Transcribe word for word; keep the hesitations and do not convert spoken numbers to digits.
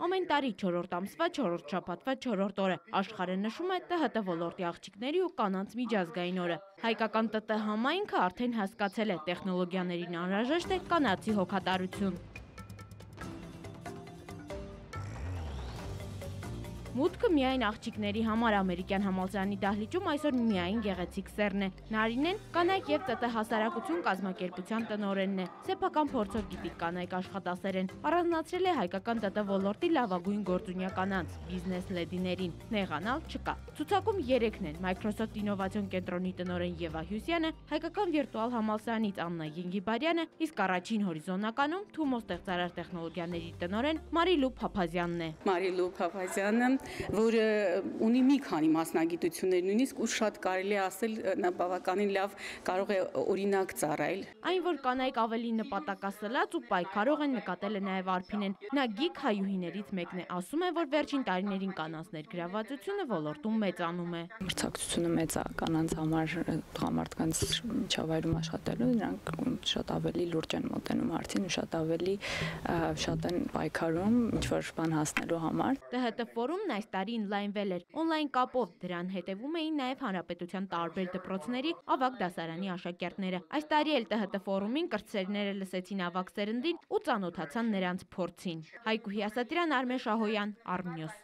Ամեն տարի չորրորդ ամսվա չորրորդ շաբաթվա չորրորդ օրը աշխարհը նշում է Տ Հ Տ ոլորտի աղջիկների ու կանանց միջազգային օրը։ Հայկական Տ Տ համայնքը արդեն հասկացել է, տեխնոլոգիաներին անհրաժեշտ է կանացի հոգատարություն։ Մուտքը միայն աղջիկների համար ամերիկյան համալսարանի դահլիճում այսօր միայն գեղեցիկ սերն է։ Նարինեն կանայք և Տ Տ հասարակություն կազմակերպության տնօրենն է։ Սեփական փորձով գիտիկ կանայք աշխատասեր են։ Առանձնացրել է հայկական Տ Տ ոլորտի լավագույն գործունյա կանանց, բիզնես լեդիներին։ Նեղանալ չկա։ Ցուցակում երեքն են՝ Microsoft ինովացիոն կենտրոնի տնօրեն Եվա Հյուսյանը, հայկական վիրտուալ համալսարանից Աննա Եղիբարյանը, իսկ առաջին հորիզոնականում Թումո ստեղծարար տեխնոլոգիաների տնօրեն Մարիլու Փափազյանն է։ Մարիլու Փափազյանը, որը ունի մի քանի մասնագիտություններ, նույնիսկ ու շատ կարելի է ասել նա բավականին լավ կարող է օրինակ ծառայել։ Այն, որ կանայք ավելի նպատակասլաց ու պայքարող են, նկատել է նաև Արփինեն։ Նա գիք հայուհիներից մեկն է, ասում է, որ վերջին տարիներին կանանց ներգրավվածությունը ոլորտում մեծանում է։ Մրցակցությունը մեծ է կանանց համար, տղամարդկանց միջավայրում աշխատելու, նրանք շատ ավելի լուրջ են մոտենում հարցին, շատ ավելի շատ են պայքարում ինչ-որ բան հասնելու համար։ Տ Հ Տ ֆորումն այս տարի ինլայնվել էր օնլայն կապով, դրան հետևում էին նաև հանրապետության տարբեր դպրոցների ավագ դասարանի աշակերտները։ Այս տարի էլ Տ Հ Տ ֆորումին կրտսերները լսեցին ավագ սերնդին ու ծանոթացան նրանց փորձին։ Հայկուհի Ասատրյան, Արմեն Շահոյան, Արմնյուզ։